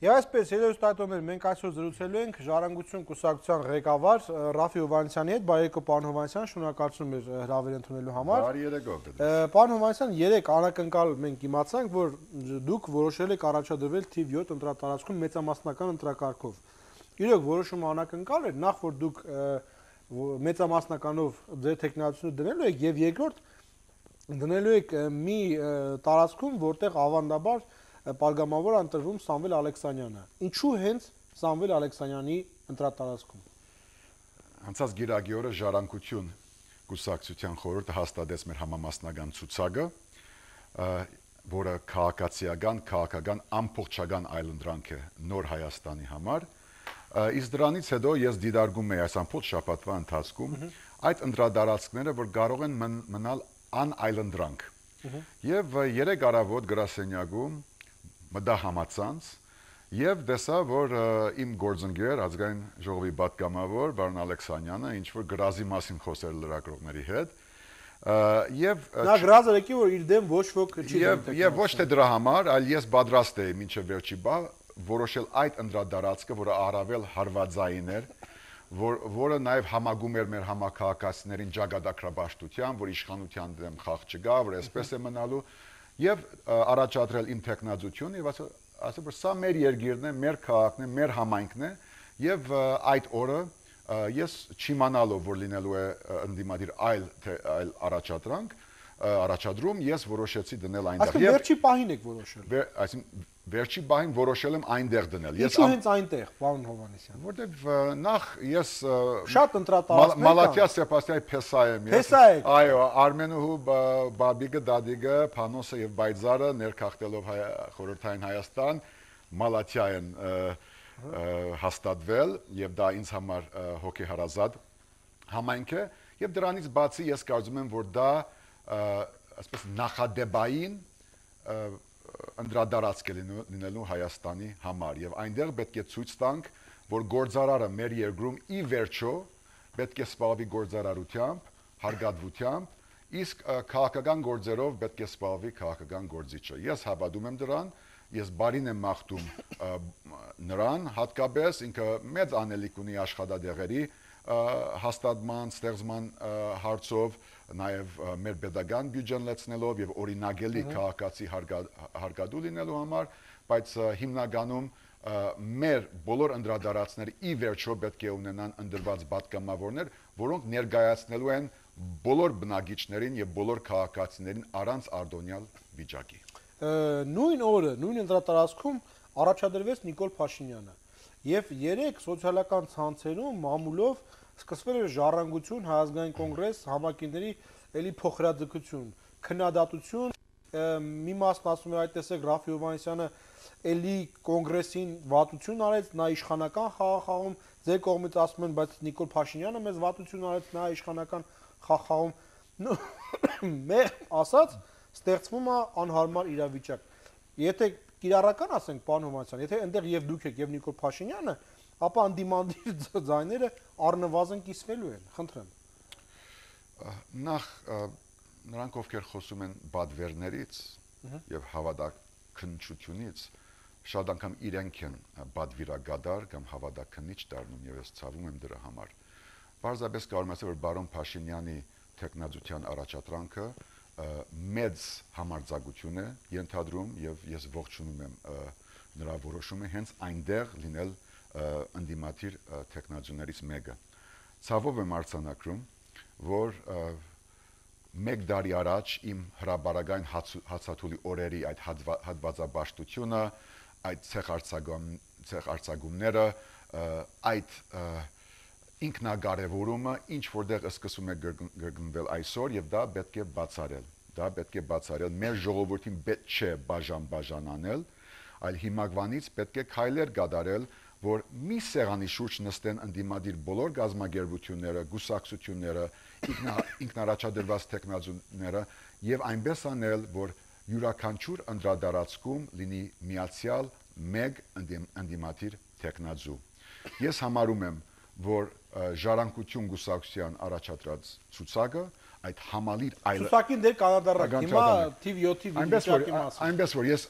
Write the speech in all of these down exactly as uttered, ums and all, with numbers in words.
Եվ այսպես, հերոստատոներ, մենք այսօր զրուցելու ենք Ժառանգություն կուսակցության ղեկավար Ռաֆի Հովհաննիսյանի հետ, բարեկո պարոն Հովհաննիսյան, շնորհակալություն մեր հրավեր ընդունելու համար։ Բարի երեկո։ Պարոն Հովհաննիսյան, երեք անակնկալ մենք իմացանք, որ դուք որոշել եք առաջադրվել թիվ յոթ ընտրատարածքում մեծամասնական ընտրակարգով։ Իրոք որոշումը անակնկալ էր, նախ որ դուք մեծամասնականով ձեր տեխնիկությունը դնելու եք եւ երկրորդ դնելու եք մի տարածքում, որտեղ ավանդաբար Պարգամավոր ընտրվում Սամվել Ալեքսանյանը։ Ինչու հենց Սամվել Ալեքսանյանի ընտրատարածքում։ Անցած գիրագի օրը Ժառանգություն կուսակցության խորհուրդը հաստատեց մեր համամասնական ցուցակը, որը քաղաքացիական, քաղաքական ամբողջական այլընտրանք է նոր Հայաստանի համար։ Իսկ դրանից հետո ես դիտարկում եի այս ամբողջ շաբաթվա ընթացքում այդ ընտրատարածքները, որ կարող են մնալ անայլընտրանք։ Եվ երեք առավոտ գրասենյակում մտա համացանց եւ տեսա, որ իմ գործընկեր ազգային ժողովի պատգամավոր Վարդան Ալեքսանյանը ինչ որ գրազի մասին խոսել լրագրողների հետ եւ նա գրազը եկի որ իր դեմ ոչ ոք չի եւ եւ ոչ թե դրա համար, այլ ես պատրաստ էի մինչեւ վերջի բա որոշել այդ ընտրադարածքը, որը առավել հարվածային էր, որ որը նաեւ համագում էր մեր համակարգացիներին ճակատագրաբաշխության, որ իշխանության դեմ խաղ չգա, որ այսպես է մնալու եւ առաջադրել իմ տեխնազությունը եւ ասել որ սա մեր երկիրն է, մեր քաղաքն է, մեր համայնքն է եւ այդ օրը ես չիմանալով որ լինելու է ընդդիմադիր այլ այլ առաջադրանք առաջադրում ես որոշեցի դնել այնտեղ եւ վերջի պահին եք որոշել այսինքն վերջի պահին որոշել եմ այնտեղ դնել ես Ինչու հենց այնտեղ պարոն Հովհաննիսյան որտեւ նախ ես շատ ընտրատարածքներ Մալաթիա Սեբաստիայի փեսա եմ ես այո Արմենուհու Բաբիգը Դադիգը Փանոսը եւ Բայձարը ներքախտելով խորհրդային Հայաստան Մալաթիա են հաստատվել եւ դա ինձ համար հոգեհարազատ համայնք է եւ դրանից բացի ես կարծում եմ որ դա այսպես նախադեպային անդրադարձք է լինելու Հայաստանի համար եւ այնտեղ պետք է ցույց տանք որ գործարարը մեր երկրում ի վերջո պետք է զբաղվի գործարարությամբ, հարգատվությամբ իսկ քաղաքական գործերով պետք է զբաղվի քաղաքական գործիչը ես հավատում եմ դրան ես բարին եմ մաղթում նրան հատկապես ինքը մեծ անելիք ունի աշխատադեղերի հաստատման, ստեղծման հարցով, նաև մեր pedagogan բյուջեն լեցնելով եւ օրինագելի քաղաքացի հարգադու լինելու համար, բայց հիմնականում մեր բոլոր անդրադարձները ի վերջո պետք է ունենան ընդրված պատգամավորներ, որոնք ներկայացնելու են բոլոր բնակիչներին եւ բոլոր քաղաքացիներին առանց արտոնյալ վիճակի։ Նույն օրը, նույն ընտրատարածքում առաջադրվեց Նիկոլ Փաշինյանը եւ երեք սոցիալական ցանցերում մամուլով սկսվել էր ժառանգություն, հայազգային կոնգրես, համակիրների էլի փոխհրաձգություն, քննադատություն, մի մասն ասում էր այդ տեսեք Ռաֆի Հովհաննիսյանը էլի կոնգրեսին վատություն արեց, նա իշխանական խաղաղում, ձեր կողմից ասում են, բայց Նիկոլ Փաշինյանը մեզ վատություն արեց, նա իշխանական խաղաղում, մեր ասած ստեղծվում է անհարմար իրավիճակ։ Եթե կիրառական ասենք պարոն Հովհաննիսյան, եթե այնտեղ եւ դուք եք եւ Նիկոլ Փաշինյանը, ապա անդիմանդիր ձայները առնվազն կիսվելու են, խնդրեմ։ Նախ նրանք ովքեր խոսում են բադվերներից եւ հավատաքննչությունից, շատ անգամ իրենք են բադվիրագադար կամ հավատաքննիչ դառնում եւ ես ցավում եմ դրա համար։ Պարզապես կարող եմ ասել, որ բարոն Փաշինյանի տեխնազության առաջադրանքը մեծ համարձակություն է ենթադրում եւ ես ողջունում եմ նրա որոշումը հենց այնտեղ լինել ընդդիմադիր տեխնազիաներից մեկը։ Ցավով եմ արձանագրում, որ մեկ տարի առաջ իմ հրաբարական հացաթուլի օրերի այդ հատվածաբաշխությունը, այդ ցեղարցակումները, այդ ինքնակարևորումը ինչ որտեղ սկսում է գրգռվել այսօր եւ դա պետք է բացառել։ Դա պետք է բացառել։ Մեր ժողովրդին պետք չէ բաժան-բաժան անել, այլ հիմակվանից պետք է քայլեր կատարել, որ մի սեղանի շուրջ նստեն ընդդիմադիր բոլոր գազագերբությունները, գուսակցությունները, ինքնարաչադրված տեխնազիաները եւ այնպես անել, որ յուրաքանչյուր անդրադարձքում լինի միացյալ մեկ ընդդիմադիր տեխնազու։ Ես համարում եմ, որ ժառանգություն գուսակցության առաջադրած ցուցակը այդ համալիր այլ ցուցակին դեր կանադառակ հիմա թիվ յոթի վիճակի մասին այնպես որ ես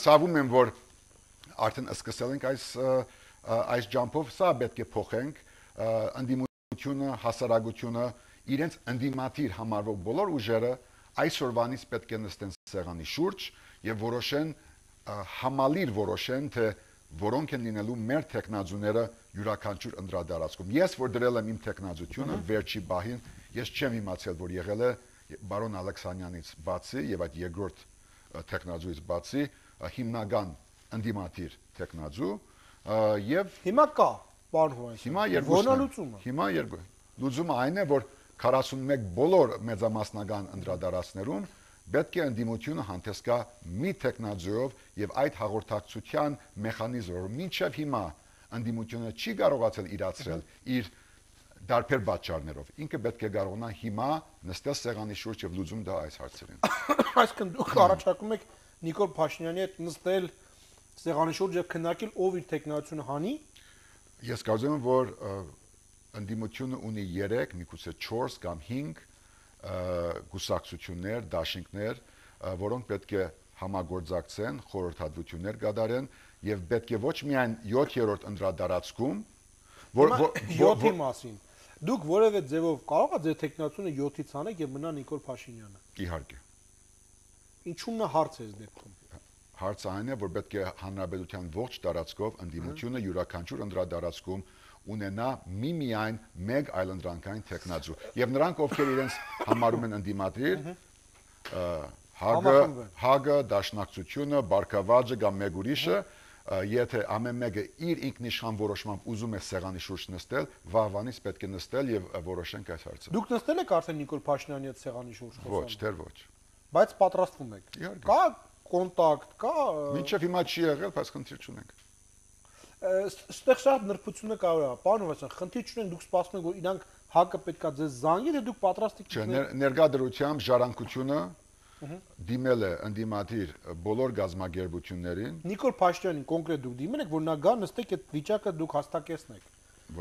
ցավում եմ որ արդեն սկսել ենք այս այս ջամփով, սա պետք է փոխենք, ընդդիմությունը, հասարակությունը, իրենց ընդդիմադիր համարվող բոլոր ուժերը այսօրվանից պետք է նստեն սեղանի շուրջ եւ որոշեն համալիր որոշեն, թե որոնք են լինելու մեր տեխնազուները յուրաքանչյուր ընդրադարձքում։ Ես որ դրել եմ իմ տեխնազությունը վերջի բահին, ես չեմ իմացել, որ եղել է բարոն Ալեքսանյանից բացի եւ այդ երկրորդ տեխնազույից բացի հիմնական ընդդիմադիր տեխնազու եւ հիմա կա, պարոն Հովհաննիսյան։ Հիմա երկուսն են։ Հիմա երկու։ Լուծումը այն է, որ քառասունմեկ բոլոր մեծամասնական ընդրադարձներուն պետք է ընդդիմությունը հանդես գա մի տեխնազույով եւ այդ հաղորդակցության մեխանիզմով մինչեւ հիմա ընդդիմությունը չի կարողացել իրացրել իր դարբեր պատճառներով ինքը պետք է կարողանա հիմա նստել սեղանի շուրջ եւ լուծում դա այս հարցերին այսինքն դուք առաջարկում եք Նիկոլ Փաշինյանի հետ նստել սեղանի շուրջ եւ քննարկել ով իր տեխնազությունը հանի ես կարծում եմ որ ընդդիմությունը ունի երեք միգուցե չորս կամ հինգ գուսակցություններ, դաշինքներ, որոնք պետք է համագործակցեն, խորհրդատվություններ կատարեն եւ պետք է ոչ միայն յոթերորդ ընդրադարձքում, որ յոթի մասին դուք որևէ ձևով կարող եք ձեր տեխնացիոնը յոթից անեք եւ մնա Նիկոլ Փաշինյանը։ Իհարկե։ Ինչու՞մն է հարցը այս դեպքում։ Հարցը այն է, որ պետք է հանրապետության ողջ տարածքով ընդդիմությունը յուրաքանչյուր ընդրադարձքում ունենա միմիայն մեկ այլընտրանքային տեխնազու եւ նրանք ովքեր իրենց համարում են ընդդիմադիր հագը հագը դաշնակցությունը բարգավաճը կամ մեկ ուրիշը եթե ամեն մեկը իր ինքնիշխան որոշմամբ ուզում է սեղանի շուրջ նստել վաղվանից պետք է նստել եւ որոշենք այս հարցը դուք նստել եք արդեն Նիկոլ Փաշինյանի հետ սեղանի շուրջ ոչ դեռ ոչ բայց պատրաստվում եք կա կոնտակտ կա մինչեւ հիմա չի եղել բայց խնդիր չունենք Ստեղ շատ նրբությունը կարող է, պարոն Հովհաննիսյան, խնդիր չունենք, դուք սպասում եք, որ իրանք հակը պետքա ձեզ զանգի, թե դուք պատրաստ եք։ Չէ, ներկայությամբ ժառանգությունը դիմել է ընդդիմադիր բոլոր գազագերբություններին։ Նիկոլ Փաշինյանին կոնկրետ դուք դիմել եք, որ նա գա նստեք այդ վիճակը դուք հաստատեցնեք։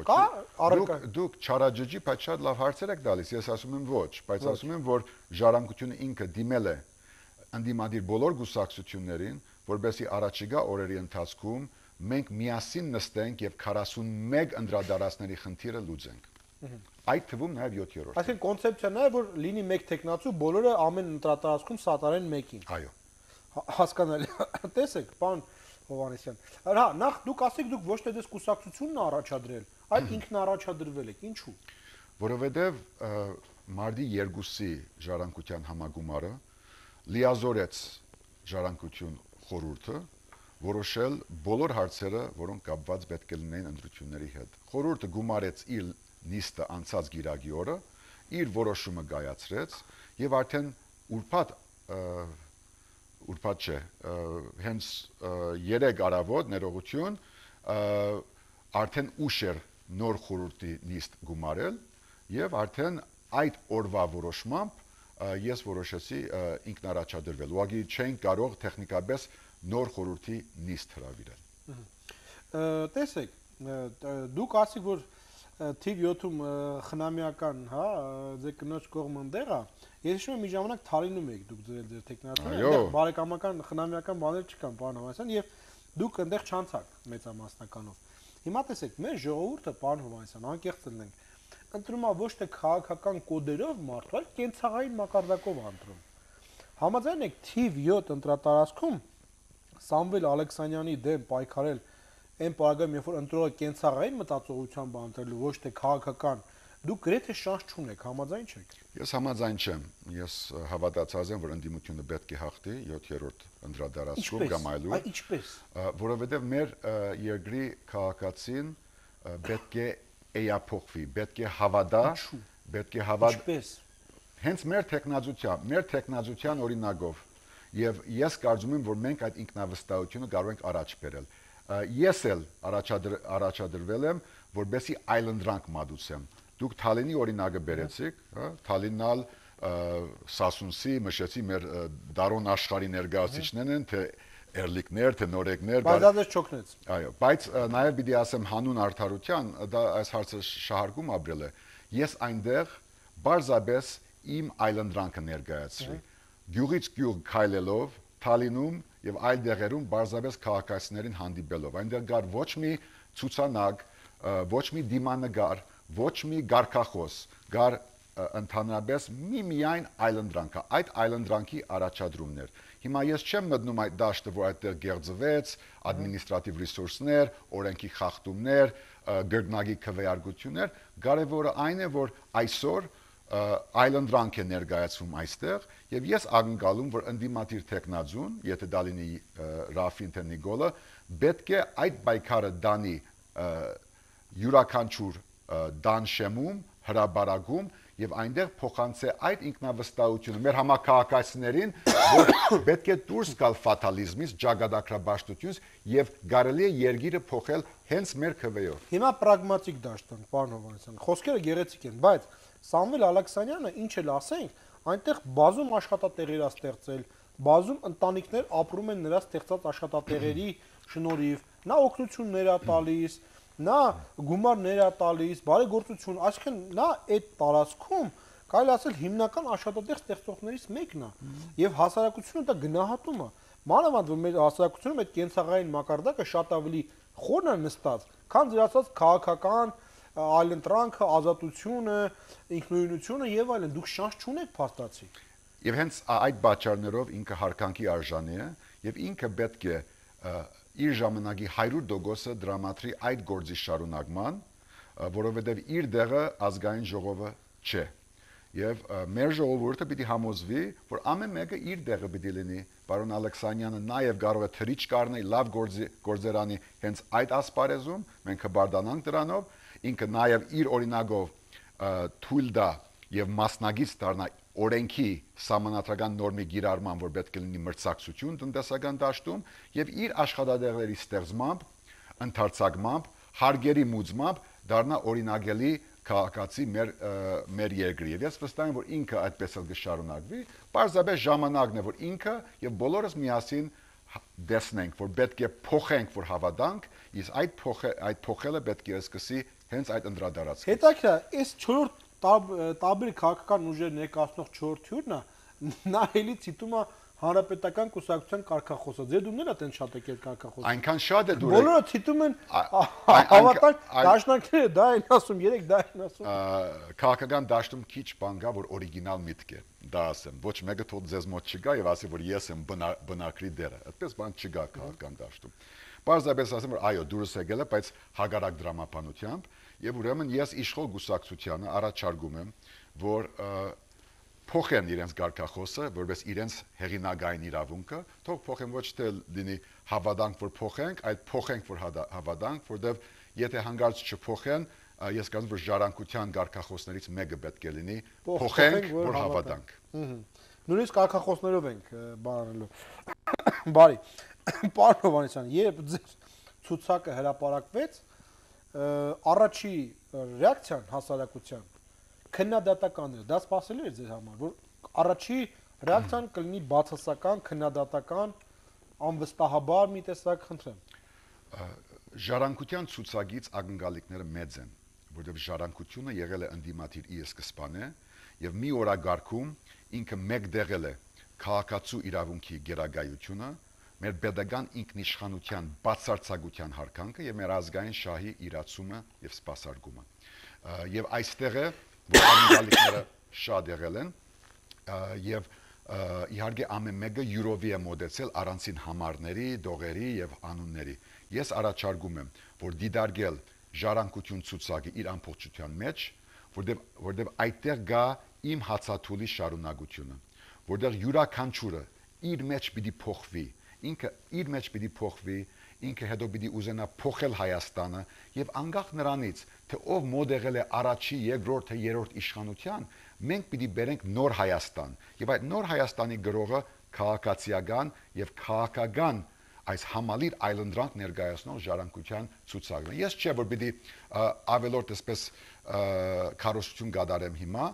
Կա առարկա։ Դուք չարաջջի, բայց շատ լավ հարցեր եք տալիս, ես ասում եմ ոչ, բայց ասում եմ, որ ժառանգությունը ինքը դիմել է ընդդիմադիր բոլոր գուսակցություններին, որովհետեւ առաջիկա օրերի ընթացքում մենք միասին նստենք եւ քառասունմեկ ընդրադարձների խնդիրը լուծենք։ Այդ թվում նաեւ յոթերորդ։ Այսինքն կոնցեպցիան է, որ լինի մեկ տեխնացու, բոլորը ամեն ընդրադարձքում սատարեն մեկին։ Այո։ Հասկանալի։ Տեսեք, պարոն Հովհաննիսյան։ Հա, նախ դուք ասեք, դուք ոչ թե դες կուսակցությունն առաջադրել, այլ ինքն առաջադրվել եք։ Ինչու՞։ Որովհետեւ մարտի երկուսի ժառանգության համագումարը լիազորեց ժառանգություն խորհուրդը որոշել բոլոր հարցերը, որոնք կապված պետք է լինեն ընտրությունների հետ։ Խորհուրդը գումարեց իր նիստը անցած գիրագի օրը, իր որոշումը կայացրեց եւ արդեն ուրբաթ ուրբաթ չէ, հենց երեք առավոտ ներողություն արդեն ուշ էր նոր խորհրդի նիստ գումարել եւ արդեն այդ օրվա որոշմամբ ես որոշեցի ինքնարաչադրվել։ Ուղղակի չենք կարող տեխնիկապես նոր խորհրդի նիստ հրավիրել։ Տեսեք, դուք ասիք, որ թիվ յոթում խնամիական, հա, ձեր կնոջ կողմը ընդեղ է։ Ես հիշում եմ մի ժամանակ Թալինում եք դուք ձեր ձեր տեխնիկացիան, այնտեղ բարեկամական խնամիական բաներ չկան, պարոն Հովհաննիսյան, եւ դուք այնտեղ չանցաք մեծամասնականով։ Հիմա տեսեք, մեր ժողովուրդը, պարոն Հովհաննիսյան, անկեղծ լինենք, ընտրում է ոչ թե քաղաքական կոդերով մարդու, այլ կենցաղային մակարդակով ընտրում։ Համաձայն եք թիվ յոթ ընտրատարածքում Սամվել Ալեքսանյանի դեմ պայքարել այն պարագայում, երբ որ ընտրողը կենցաղային մտածողությամբ ընտրելու ոչ թե քաղաքական, դուք գրեթե շանս չունեք, համաձայն չեք։ Ես համաձայն չեմ։ Ես հավատացած եմ, որ ընդդիմությունը պետք է հաղթի յոթերորդ ընդրադարձքում կամ այլուր։ Այ ինչպես։ Որովհետև մեր երկրի քաղաքացին պետք է էյափոխվի, պետք է հավատա, պետք է հավատա։ Ինչպես։ Հենց մեր տեխնազության, մեր տեխնազության օրինակով եւ ես կարծում եմ, որ մենք այդ ինքնավստահությունը կարող ենք առաջ բերել։ Ես էլ առաջադրվել եմ, որբեսի այլընտրանք մատուցեմ։ Դուք Թալինի օրինակը բերեցիք, հա, Թալիննալ Սասունսի, Մշեցի մեր դարոն աշխարհի ներկայացուցիչներն են, թե էրլիկներ, թե նորեկներ, բայց դա դες չօգնեց։ Այո, բայց նաեւ պիտի ասեմ հանուն արդարության, դա այս հարցը շահարկում ապրել է։ Ես այնտեղ բարձաբես իմ այլընտրանքը ներկայացրի։ Գյուղից գյուղ քայլելով Թալինում եւ այլ դեղերում բարձրապես քաղաքացիներին հանդիպելով։ Այնտեղ կար ոչ մի ցուցանակ, ոչ մի դիմանագար, ոչ մի գարկախոս, կար ընդհանրապես մի միայն այլընտրանք, այդ այլընտրանքի առաջադրումներ։ Հիմա ես չեմ մտնում այդ դաշտը, որ այդտեղ գեղձվեց, ադմինիստրատիվ ռեսուրսներ, օրենքի խախտումներ, գրգնագի քվեարկություններ, կարևորը այն է, որ այսօր այլընտրանք է ներկայացվում այստեղ, եւ ես ակնկալում, որ ընդդիմադիր տեխնազուն, եթե դա լինի Ռաֆին թե Նիկոլը, պետք է այդ պայքարը դանի յուրաքանչյուր դան շեմում, հրաբարակում եւ այնտեղ փոխանցե այդ ինքնավստահությունը մեր համակարգացիներին, որ պետք է դուրս գալ ֆատալիզմից, ճակատագրաբաշխությունից եւ կարելի է երկիրը փոխել հենց մեր քվեով։ Հիմա պրագմատիկ դաշտ ենք, պարոն Հովհաննիսյան։ Խոսքերը գեղեցիկ են, բայց Սամվել Ալեքսանյանը ինչ էլ ասենք, այնտեղ բազում աշխատատեղեր է ստեղծել, բազում ընտանիքներ ապրում են նրա ստեղծած աշխատատեղերի շնորհիվ, նա օգնություններ է տալիս, նա գումարներ է տալիս, բարեգործություն, այսինքն նա այդ տարածքում կարելի ասել հիմնական աշխատատեղ ստեղծողներից մեկն է եւ հասարակությունը դա գնահատում է։ Մանավանդ որ մեր հասարակությունում այդ կենցաղային մակարդակը շատ ավելի խորն է նստած, քան դրացած քաղաքական այլընտրանքը, ազատությունը, ինքնուրույնությունը եւ այլն, դուք շանս չունեք փաստացի։ Եվ հենց այդ բաժարներով ինքը հարկանքի արժանի է եւ ինքը պետք է իր ժամանակի հարյուր տոկոսը դրամատրի այդ գործի շարունակման, որովհետև իր դեղը ազգային ժողովը չէ։ Եվ մեր ժողովուրդը պիտի համոզվի, որ ամեն մեկը իր դեղը պիտի լինի։ Պարոն Ալեքսանյանը նաև կարող է թրիչ կառնել լավ գործի գործերանի հենց այդ ասպարեզում, մենք կբարդանանք դրանով, ինքը նաև իր օրինակով թույլ տա եւ մասնագից դառնա օրենքի սահմանադրական նորմի գիրառման, որ պետք է լինի մրցակցություն տնտեսական դաշտում եւ իր աշխատադեղերի ստեղծմամբ, ընդարձակմամբ, հարգերի մուծմամբ դառնա օրինակելի քաղաքացի մեր մեր երկրի։ Եվ ես վստահ եմ, որ ինքը այդպես էլ կշարունակվի, պարզապես ժամանակն է, որ ինքը եւ բոլորս միասին դեսնենք, որ պետք է փոխենք, որ հավատանք, իսկ այդ փոխը այդ փոխելը պետք է սկսի հենց այդ անդրադարձից։ Հետաքրքիր է, այս չորրորդ տարբեր քաղաքական ուժեր ներկայացնող չորրորդ թյուրն է, նա էլի ցիտում է հանրապետական կուսակցության կարգախոսը։ Ձեր դումները տեն շատ եկել կարգախոսը։ Այնքան շատ է դուր։ Բոլորը ցիտում են հավատալ, դաշնակները դա են ասում, երեք դա են ասում։ Քաղաքական դաշտում քիչ բան կա, որ օրիգինալ միտք է։ Դա ասեմ, ոչ մեկը թող ձեզ մոտ չգա եւ ասի, որ ես եմ բնակրի դերը։ Այդպես բան չկա քաղաքական դաշտում։ Պարզապես ասեմ, որ այո, դուրս եկել է, բայց հագարակ դրամապանությամբ, եւ ուրեմն ես իշխող գուսակցությանը առաջարկում եմ, որ փոխեն իրենց գարկախոսը, որպես իրենց հեղինակային իրավունքը, թող փոխեն ոչ թե լինի հավատանք, որ փոխենք, այլ փոխենք, որ հավատանք, որտեղ եթե հանգարց չփոխեն, ես կարծում որ ժառանգության գարկախոսներից մեկը պետք է լինի փոխենք, որ հավատանք։ Նույնիսկ գարկախոսներով ենք բանանելու։ Բարի, պարոն Հովհաննիսյան, երբ ձեր ցուցակը հրապարակվեց, առաջի ռեակցիան հասարակության քննադատական էր, դա սպասելի էր ձեր համար, որ առաջի ռեակցիան կլինի բացասական, քննադատական, անվստահաբար մի տեսակ, խնդրեմ։ Ժառանգության ցուցակից ակնկալիքները մեծ են, որովհետև ժառանգությունը եղել է ընդդիմադիր ի սկզբանե եւ մի օրագարկում ինքը մեկ դեղել է քաղաքացու իրավունքի գերագայությունը, մեր pedagogan ինքնիշխանության բացարձակության հարկանքը եւ մեր ազգային շահի իրացումը եւ սպասարկումը։ Եվ այստեղ է որ ակնկալիքները շատ եղել են եւ իհարկե ամեն մեկը յուրովի է մոտեցել առանցին համարների, դողերի եւ անունների։ Ես առաջարկում եմ, որ դիտարկել ժառանգություն ցուցակը իր ամբողջության մեջ, որտեղ որտեղ այդտեղ գա իմ հացաթուլի շարունակությունը, որտեղ յուրաքանչյուրը իր մեջ պիտի փոխվի, ինքը իր մեջ պիտի փոխվի, ինքը հետո պիտի ուզենա փոխել Հայաստանը եւ անկախ նրանից, թե ով մոտ եղել է առաջի, երկրորդ, թե երրորդ իշխանության, մենք պիտի բերենք նոր Հայաստան եւ այդ նոր Հայաստանի գրողը քաղաքացիական եւ քաղաքական այս համալիր այլընտրանք ներկայացնող ժառանգության ցուցակն է։ Ես չէ որ պիտի ավելորդ այսպես քարոզություն կատարեմ հիմա,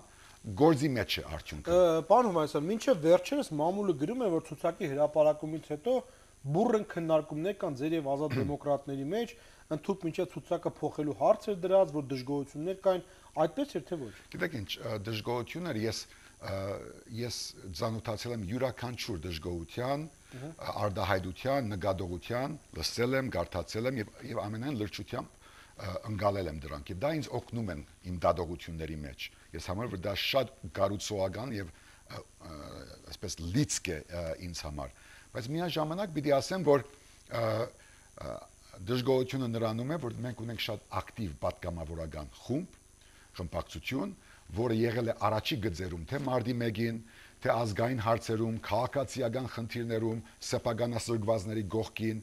գործի մեջ է արդյունքը։ Պարոն Հովհաննիսյան, մինչև վերջերս մամուլը գրում է, որ ցուցակի հրապարակումից հետո բուրըն քննարկումներ կան ձեր եւ ազատ դեմոկրատների մեջ, ընդհանուր մինչև ցուցակը փոխելու հարց էր դրած, որ դժգոհություններ կային, այդպես էր թե ոչ։ Գիտեք ինչ, դժգոհությունները ես ես ծանոթացել եմ յուրաքանչյուր դժգոհության, արդահայտության, նկատողության, լսել եմ, կարդացել եմ եւ եւ ամենայն լրջությամբ ընկալել եմ դրանք եւ դա ինձ օգնում են իմ դատողությունների մեջ։ Ես համար որ դա շատ կառուցողական եւ այսպես լիցք է ինձ համար։ Բայց միաժամանակ պիտի ասեմ, որ դժգոհությունը նրանում է, որ մենք ունենք շատ ակտիվ պատգամավորական խումբ, խմբակցություն, որը եղել է առաջի գծերում, թե մարտի մեկին, թե ազգային հարցերում, քաղաքացիական խնդիրներում, սեփականասրբվածների գողքին,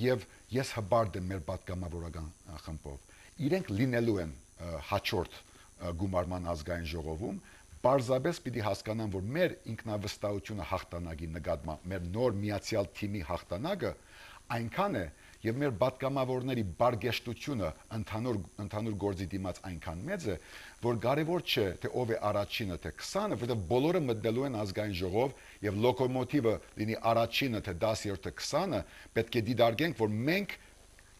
եւ ես հբարդ եմ մեր պատգամավորական խմբով։ Իրենք լինելու են հաջորդ գումարման ազգային ժողովում, պարզապես պիտի հասկանան, որ մեր ինքնավստահությունը հաղթանակի նկատմամբ, մեր նոր միացյալ թիմի հաղթանակը այնքան է, եւ մեր պատգամավորների բարգեշտությունը ընդհանուր ընդհանուր գործի դիմաց այնքան մեծ է, որ կարևոր չէ, թե ով է առաջինը, թե քսանը, որովհետեւ բոլորը մտնելու են ազգային ժողով եւ լոկոմոտիվը լինի առաջինը, թե դասերորդը քսանը, պետք է դիտարկենք, որ մենք,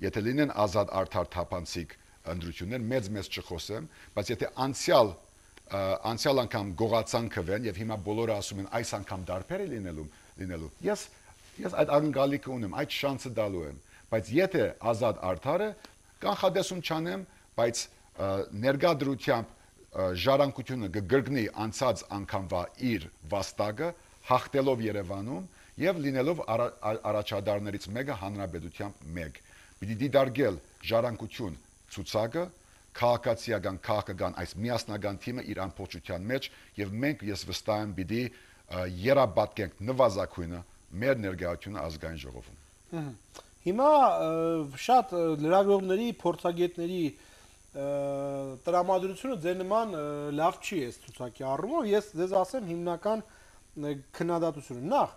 եթե լինեն ազատ արդար թափանցիկ ընդրություններ, մեծ-մեծ չխոսեմ, բայց եթե անցյալ անցյալ անգամ գողացանքվեն եւ հիմա բոլորը ասում են այս անգամ դարբեր է լինելու, լինելու։ Ես ես այդ անկալիքը ունեմ, այդ շանսը դալու եմ, բայց եթե ազատ արդար է, կանխադեսում չանեմ, բայց ներգադրությամբ ժառանգությունը կգրկնի անցած անգամվա իր վաստակը, հաղթելով Երևանում եւ լինելով առաջադարներից մեկը հանրապետությամբ մեկ։ Պիտի դիտարկել ժառանգություն ցուցակը, քաղաքացիական քաղաքական այս միասնական թիմը իր ամբողջության մեջ եւ մենք ես վստահ եմ պիտի երապատկենք նվազագույնը մեր ներկայությունը ազգային ժողովում։ Հիմա շատ լրագրողների, փորձագետների տրամադրությունը ձեր նման լավ չի է ցուցակի առումով, ես ձեզ ասեմ հիմնական քննադատությունը։ Նախ,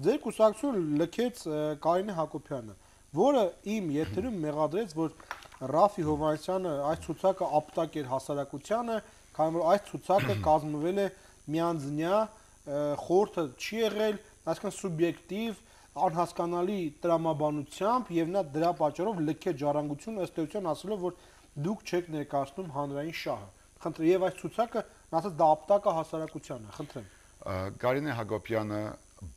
ձեր կուսակցությունը լքեց Կարինե Հակոբյանը, որը իմ եթերում մեղադրեց, որ Ռաֆի Հովհաննիսյանը այս ցուցակը ապտակ էր հասարակությանը, քանի որ այս ցուցակը կազմվել է միանձնյա, խորհուրդը չի եղել, այսինքն սուբյեկտիվ, անհասկանալի տրամաբանությամբ եւ նա դրա պատճառով լքեց ժառանգությունը ըստ էության ասելով, որ դուք չեք ներկայացնում հանրային շահը։ Խնդրեմ, եւ այս ցուցակը ասած դա ապտակ է հասարակությանը, խնդրեմ։ Կարինե Հակոբյանը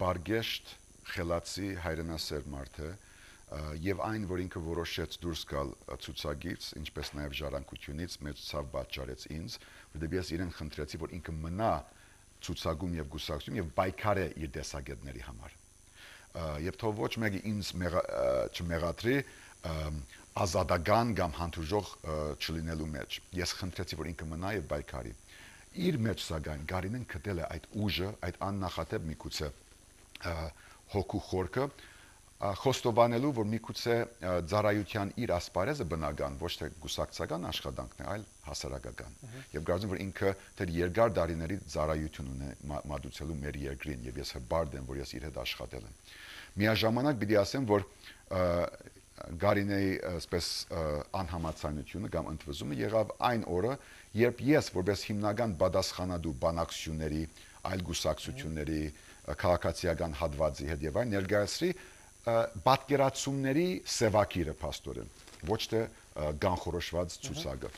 բարգեշտ, խելացի, հայրենասեր մարդ է, եւ այն, որ ինքը որոշեց դուրս գալ ցուցակից, ինչպես նաեւ ժառանգությունից, մեծ ցավ պատճառեց ինձ, որտեղ ես իրեն խնդրեցի, որ ինքը մնա ցուցակում եւ գուսակցում եւ բայկարե իր տեսակետների համար։ Եվ թող ոչ մեկը ինձ չմեղադրի ազատական կամ հանդուրժող չլինելու մեջ։ Ես խնդրեցի, որ ինքը մնա եւ բայկարի։ Իր մեջ սակայն Կարինեն գտել է այդ ուժը, այդ աննախադեպ միգուցե հոգու խորքը խոստովանելու, որ միգուցե ծառայության իր ասպարեզը բնական, ոչ թե գուսակցական աշխատանքն է, այլ հասարակական։ Եվ կարծում եմ, որ ինքը դեռ երկար տարիների ծառայություն ունի մատուցելու մեր երկրին, եւ ես հբարդ եմ, որ ես իր հետ աշխատել եմ։ Միաժամանակ պիտի ասեմ, որ Կարինեի այսպես անհամաձայնությունը կամ ընդվզումը եղավ այն օրը, երբ ես որպես հիմնական պատասխանատու բանակցությունների, այլ գուսակցությունների, քաղաքացիական հատվածի հետ եւ այն ներկայացրի պատկերացումների սևակիրը փաստորեն, ոչ թե կանխորոշված ցուցակը։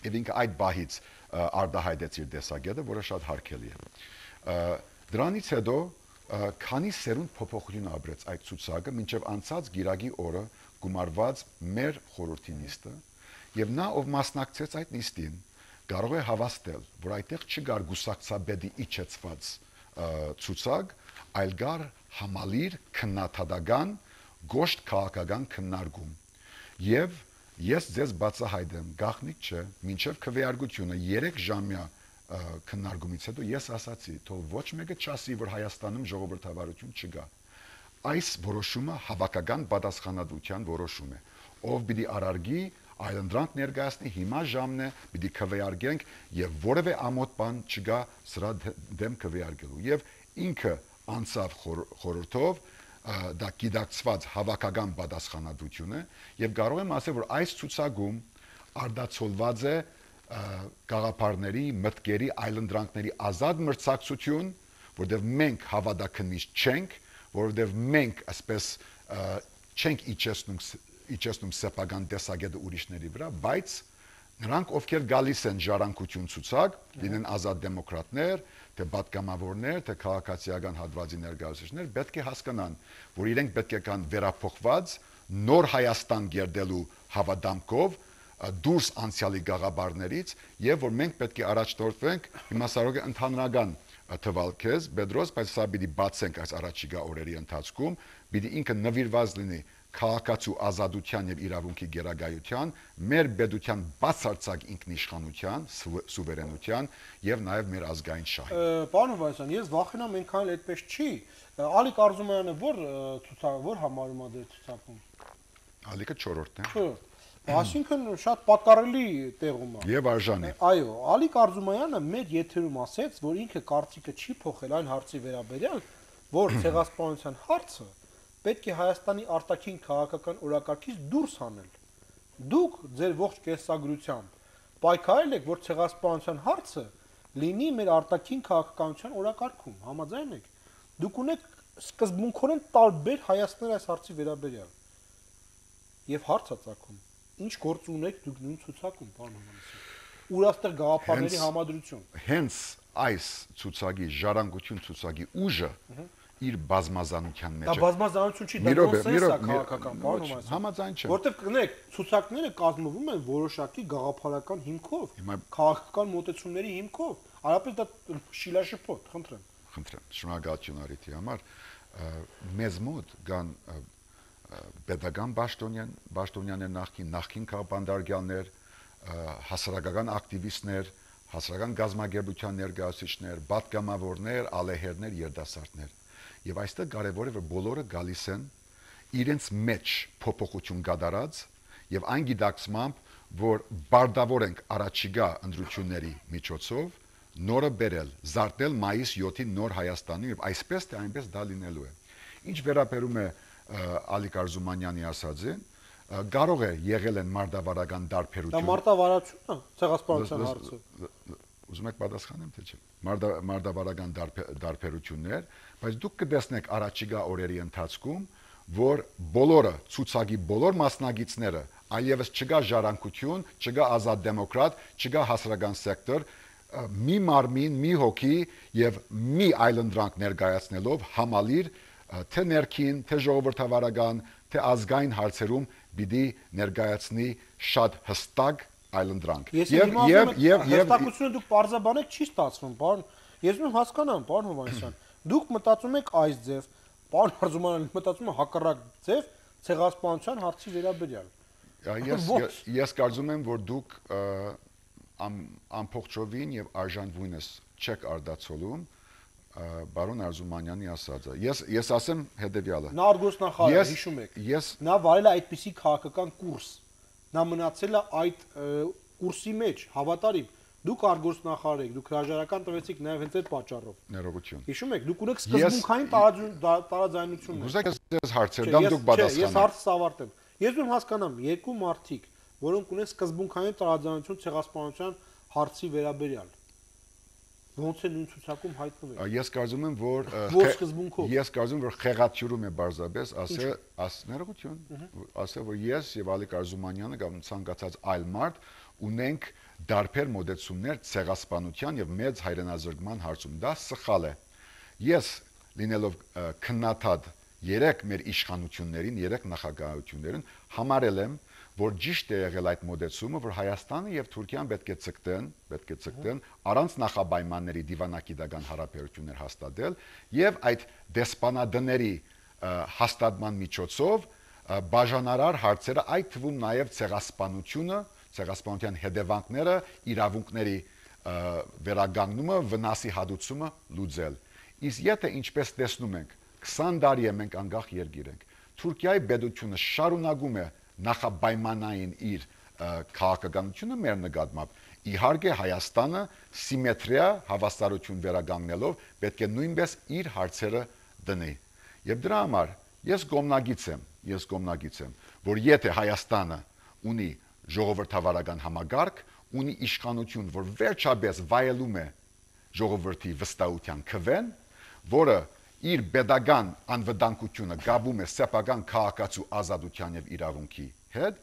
Եվ ինքը այդ բահից արդահայտեց իր տեսակետը, որը շատ հարգելի է։ Դրանից հետո քանի սերունդ փոփոխություն ապրեց այդ ցուցակը, մինչև անցած գիրագի օրը գումարված մեր խորհրդի նիստը, եւ նա ով մասնակցեց այդ նիստին, կարող է հավաստել, որ այդտեղ չկար գուսակցաբեդի իջեցված ցուցակ, այլ կար համալիր քննադատական գոշտ քաղաքական քննարկում։ Եվ ես ձեզ բացահայտեմ, գաղտնիք չէ, մինչև քվեարկությունը երեք ժամյա քննարկումից հետո ես ասացի, թող ոչ մեկը չասի, որ Հայաստանում ժողովրդավարություն չկա։ Այս որոշումը հավաքական պատասխանատվության որոշում է։ Ով պիտի արարգի, այլընտրանք ներկայացնի, հիմա ժամն է, պիտի քվեարկենք եւ որևէ ամոթ բան չկա սրա դեմ քվեարկելու։ Եվ ինքը անցավ խորհրդով, դա գիտակցված հավաքական պատասխանատվություն է, եւ կարող եմ ասել, որ այս ցուցակում արդացոլված է գաղափարների, մտքերի, այլընտրանքների ազատ մրցակցություն, որտեղ մենք հավատաքննիչ չենք, որովհետև մենք այսպես չենք իջեցնում իջեցնում սեփական տեսակետը ուրիշների վրա, բայց Նրանք ովքեր գալիս են ժառանգություն ցուցակ, լինեն ազատ դեմոկրատներ, թե պատգամավորներ, թե քաղաքացիական հատվածի ներկայացուցիչներ, պետք է հասկանան, որ իրենք պետք է կան վերափոխված նոր Հայաստան գերդելու հավատամքով դուրս անցյալի գաղաբարներից եւ որ մենք պետք է առաջնորդվենք հիմա սարոգը ընդհանրական թվալ քեզ Պետրոս, բայց սա պիտի բացենք այս առաջիկա օրերի ընթացքում, պիտի ինքը նվիրված լինի քաղաքացու ազատության եւ իրավունքի գերագայության, մեր պետության բացարձակ ինքնիշխանության, սուվերենության եւ նաեւ մեր ազգային շահի։ Պարոն Հովհաննիսյան, ես վախենամ այնքան էլ այդպես չի։ Ալիկ Արզումանյանը որ ցուցակ որ համարում է դեր ցուցակում։ Ալիկը չորրորդն է։ Չէ։ Այսինքն շատ պատկառելի տեղում է։ Եվ արժանի։ Այո, Ալիկ Արզումանյանը մեր եթերում ասեց, որ ինքը կարծիքը չի փոխել այն հարցի վերաբերյալ, որ ցեղասպանության հարցը պետք է Հայաստանի արտաքին քաղաքական օրակարգից դուրս հանել։ Դուք ձեր ողջ կենսագրությամբ պայքարել եք, որ ցեղասպանության հարցը լինի մեր արտաքին քաղաքականության օրակարգում, համաձայն եք։ Դուք ունեք սկզբունքորեն տարբեր հայացքներ այս հարցի վերաբերյալ։ Եվ հարց է ծագում. ինչ գործ ունեք դուք նույն ցուցակում, պարոն Հովհաննիսյան։ Ուր աստեղ գաղափարների համադրություն։ Հենց այս ցուցակի ժառանգություն ցուցակի ուժը իր բազմազանության մեջ է։ Դա բազմազանություն չի, դա նոնսենս է քաղաքական, պարոն Հովհաննիսյան։ Համաձայն չեմ։ Որտեվ կնեք, ցուցակները կազմվում են որոշակի գաղափարական հիմքով, քաղաքական մոտեցումների հիմքով։ Արապես դա շիլաշփոթ, խնդրեմ։ Խնդրեմ, շնորհակալություն արիթի համար։ Մեզ մոտ կան պետական Պաշտոնյան, Պաշտոնյաներ նախքին, նախքին քաղաքապետարներ, հասարակական ակտիվիստներ, հասարակական գազագերբության ներկայացուցիչներ, պատգամավորներ, ալեհերներ, երիտասարդներ։ Եվ այստեղ կարևոր է որ բոլորը գալիս են իրենց մեջ փոփոխություն կատարած եւ այն գիտակցմամբ, որ բարդավոր ենք առաջիկա ընտրությունների միջոցով նորը բերել, զարթնել մայիս յոթին նոր Հայաստանի եւ այսպես թե այնպես դա լինելու է։ Ինչ վերաբերում է Ալիկ Արզումանյանի ասածին, կարող է եղել են մարտավարական դարբերություն։ Դա մարտավարություն է, ցեղասպանության հարցը։ Ուզում եք պատասխանեմ թե չէ։ Մարտավարական դարբերություններ, բայց դուք կտեսնեք առաջիկա օրերի ընթացքում, որ բոլորը ցուցակի բոլոր մասնագետները, այլևս չկա ժառանգություն, չկա ազատ դեմոկրատ, չկա հասարակական սեկտոր, մի մարմին, մի հոգի եւ մի այլընտրանք ներկայացնելով համալիր թե ներքին, թե ժողովրդավարական, թե ազգային հարցերում պիտի ներկայացնի շատ հստակ այլընտրանք։ Եվ եւ եւ հստակությունը դուք բարձաբանեք չի ստացվում, պարոն։ Ես ում հասկանամ, պարոն Հովհաննիսյան, դուք մտածում եք այս ձև, պարոն Արզումանյանը մտածում է հակառակ ձև ցեղասպանության հարցի վերաբերյալ։ Ես ես կարծում եմ, որ դուք ամփոփչովին եւ արժանվույնս չեք արդացոլում Բարոն Արզումանյանի ասածը։ Ես ես ասեմ հետեւյալը։ Նա արգոսնախարար է, հիշում եք։ Ես նա վարել է այդպիսի քաղաքական կուրս։ Նա մնացել է այդ կուրսի մեջ, հավատարիմ։ Դուք արգոսնախարար եք, դուք հրաժարական տվեցիք նաև հենց այդ պատճառով։ Ներողություն։ Հիշում եք, դուք ունեք սկզբունքային տարաձայնություններ։ Ուզեք ես հարցեր, դամ դուք պատասխանեք։ Ես հարցս ավարտեմ։ Ես ում հասկանամ, երկու մարդիկ, որոնք ունեն սկզբունքային տարաձայնություն ցեղասպանության հարցի վերաբերյալ։ Ոնց է նույն ցուցակում հայտնվել։ Ես կարծում եմ, որ ես կարծում եմ, որ խեղաթյուրում է բարձրապես ասել, աս ներողություն, ասել, որ ես եւ Ալիկ Արզումանյանը կամ ցանկացած այլ մարդ ունենք դարբեր մոդեցումներ ցեղասպանության եւ մեծ հայրենազրկման հարցում։ Դա սխալ է։ Ես լինելով քննադատ երեք մեր իշխանություններին, երեք նախագահություններին համարել եմ, որ ճիշտ է եղել այդ մոդեցումը, որ Հայաստանը եւ Թուրքիան պետք է ցկտեն, պետք է ցկտեն առանց նախապայմանների դիվանագիտական հարաբերություններ հաստատել եւ այդ դեսպանադների հաստատման միջոցով բաժանարար հարցերը, այդ թվում նաեւ ցեղասպանությունը, ցեղասպանության հետևանքները, իրավունքների վերագանգնումը, վնասի հատուցումը լուծել։ Իսկ եթե ինչպես տեսնում ենք, քսան տարի է մենք անկախ երկիր ենք։ Թուրքիայի պետությունը շարունակում է նախապայմանային իր քաղաքականությունը մեր նկատմամբ։ Իհարկե Հայաստանը սիմետրիա հավասարություն վերագանգնելով պետք է նույնպես իր հարցերը դնի։ Եվ դրա համար ես կողմնակից եմ, ես կողմնակից եմ, որ եթե Հայաստանը ունի ժողովրդավարական համագարկ, ունի իշխանություն, որ վերջապես վայելում է ժողովրդի վստահության քվեն, որը իր pedagogan անվտանգությունը գաբում է սեփական քաղաքացու ազատության եւ իրավունքի հետ,